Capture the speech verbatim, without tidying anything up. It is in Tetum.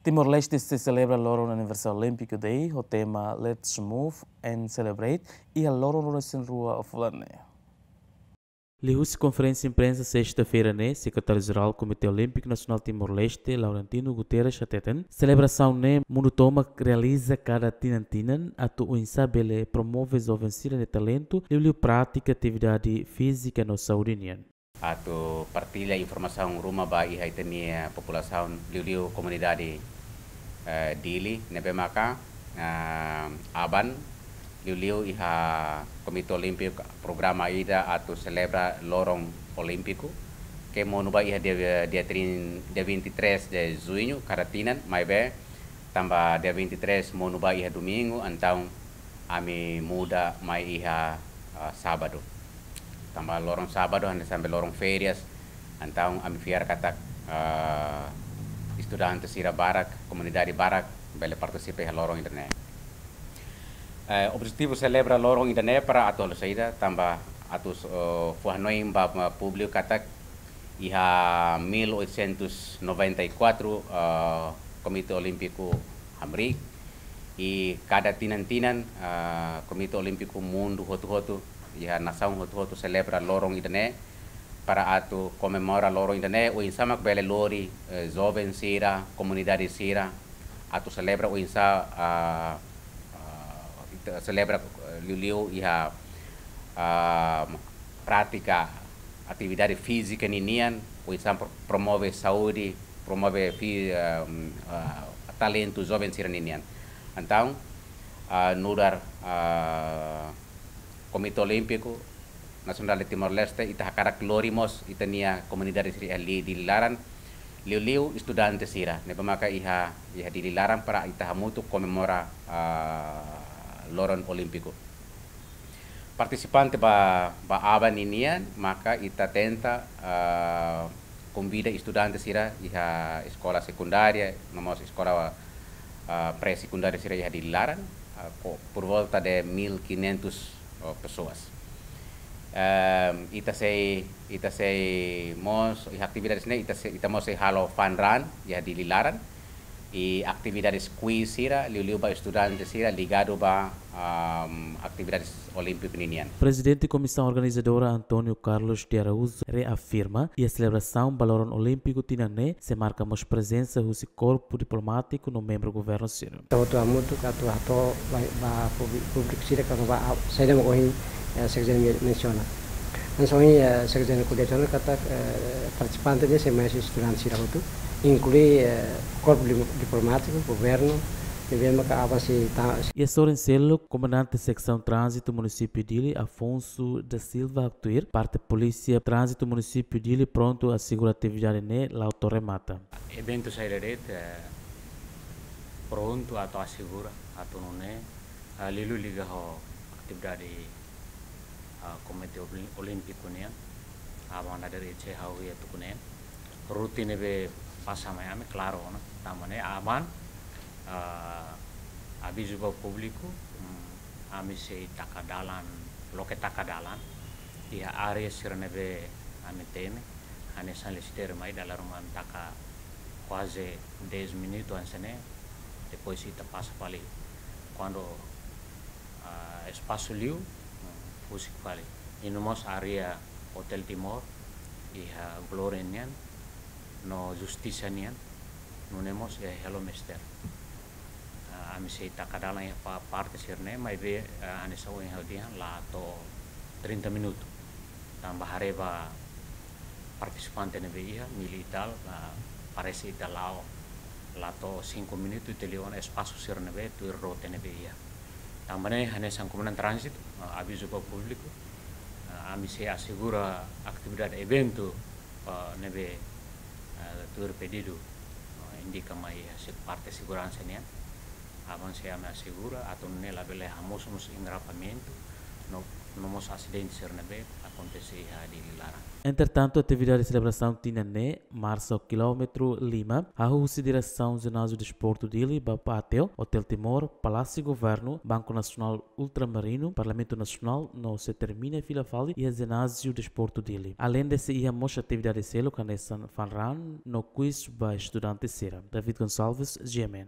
Timor-Leste sei selebra loron Anniversary Olympic Day ho tema Let's Move and Celebrate iha loron ruanulu-resin-rua fulan ne'e. Liuhusi konferénsia imprensa sesta-feira ne'e, Sekretáriu-Jerál Komité Olímpiku Nasionál Timor-Leste, Laurentino Guterres, hateten, selebrasaun ne'e mundu tomak realiza kada tinan-tinan atu oinsá bele promove joven sira-nia talentu, liuliu pratika atividade fízika no saúde nian. Atu partilla informasaun ruma ba iha ita-nia populasaun, liuliu komunidade, eh, Dili, ne'ebé maka, eh, aban, liuliu iha Komité Olímpiku programa ida atu selebra loron Olímpiku, ke monu ba iha dia, dia trin-, dia vinte e três de junho, kada tinan, maibé, tanba dia vinte e três monu ba iha domingu, entaun ami muda mai iha, ah, sábadu. Tanba loron sábadu, hanesan be loron férias, entaun ami fiar katak, ah, estudante sira barak, komunidade barak, bele partisipa iha loron ida-ne'e. Eh, objetivu selebra loron ida-ne'e para atu halo saida, tanba atu, eh, fó-hanoin ba, ba públiku katak iha mil oitocentos noventa e quatro, eh, Komité Olímpiku hamriik, i kada tinan-tinan, eh, Komité Olímpiku mundu hotu-hotu, iha nasaun hotu-hotu selebra loron ida-ne'e, para atu komemora loron ida-ne'e, oinsá mak bele lori, eh, joven sira, komunidade sira, atu selebra oinsá, ah, ah, ita selebra, eh, liuliu iha, ah, pratika atividade fízika ninian, oinsá pro-, promove saúde, promove fi-, ah, ah, talentu joven sira ninian. Entaun, ah, nu'udar, ah, Komité Olímpiku Nasionál de Timor-Leste, ita hakarak lori mós ita-nia komunidade sira iha Dili laran, liuliu estudante sira, ne'ebé maka iha, iha Dili laran para ita hamutuk komemora, ah, loron Olímpiku. Partisipante ba, ba aban ninian, maka ita tenta, ah, konvida estudante sira iha eskola sekundária, no mós eskola, ah, pré-sekundária sira iha Dili laran, ah, po-, por volta de mil quinhentos, oh, pessoas. Ehm, ita sei, ita sei mós, iha atividade ne'e, ita sei, ita mós sei halo fun run iha Dili laran, i atividade quiz sira, liuliu ba estudante sira ligadu ba, ehm, atividade olímpiku ninian. Prezidente Komisaun Organizadora António Carlos de Araújo reafirma, iha selebrasaun ba loron Olímpiku tinan ne'e sei marka mós prezensa husi korpu diplomátiku no membru governu sira. Ita hotu hamutuk atu hato'o ba, ba públi-, públiku sira katak ba, ah, saida mak ohin, eh, Sekjen men-, mensiona. Hanesan ohin, eh, Sekjen ko'alia tiha ona katak, eh, partisipante ne'e sei mai husi estudante sira hotu, inklui, eh, korpu di-, diplomátiku, governu, ne'ebé maka aban sei ta- Iha sorin seluk, Komandante Seksaun Tránzitu Munisípiu Dili, Afonso da Silva, haktuir, parte Polísia Tránzitu Munisípiu Dili prontu asegura atividade ne'e la'o to'o remata. Eventu saida de'it, eh, prontu atu asegura atu nune'e, eh, liuliu liga ho atividade, eh, Komité Oli-, Olímpiku nian, aban dadeer-saan ha'u iha tuku neen. Rute ne'ebé pasa mai ami, klaru ona, tanba ne'e aban, eh, avizu ba públiku, mm, ami sei taka dalan, loke taka dalan, iha área sira ne'ebé ami temi, hanesan listeri mai dala ruma ami taka kuaze dez minutu hanesan ne'e, depois ita pasa fali. Kuandu, ah, espasu liu, mm, husik fali. I no mós área Hotel Timor, iha Glória nian, no Justisa nian, nune'e mós iha Hello Mister. Ah, ami sei taka dalan iha pa-, parte sira-ne'e, maibé, ah, hanesan ohin ha'u dehan, la to'o trinta minutu. Tanba haree ba partisipante ne'ebé iha, mil e tal, ah, parese ita la'o, la to'o cinco minutu ita liu ona espasu sira ne'ebé, tuir rute ne'ebé iha. Tanba ne'e, hanesan Komandante Tránzitu, ah, avizu ba públiku, ah, ami sei asegura atividade eventu, ah, ne'ebé, ah, tuir pedidu, ah, indika mai iha se-, parte seguransa nian. Aban sei ami asegura, atu nune'e labele hamosu mós engarrafamentu, no No mós asidente sira ne'ebé akontese iha Dili laran. Entretantu, atividade selebrasaun tinan ne'e marsa ho kilómetru lima, hahú husi diresaun Jináziu Desportu Dili ba páteu Hotel Timor, Palásiu Governu, Banku Nasionál Ultramarinu, Parlamentu Nasionál, no sei termina fila fali iha Jináziu Desportu Dili. Aleinde sei iha mós atividade seluk hanesan fun run no quiz ba estudante sira. David Gonçalves, G M N.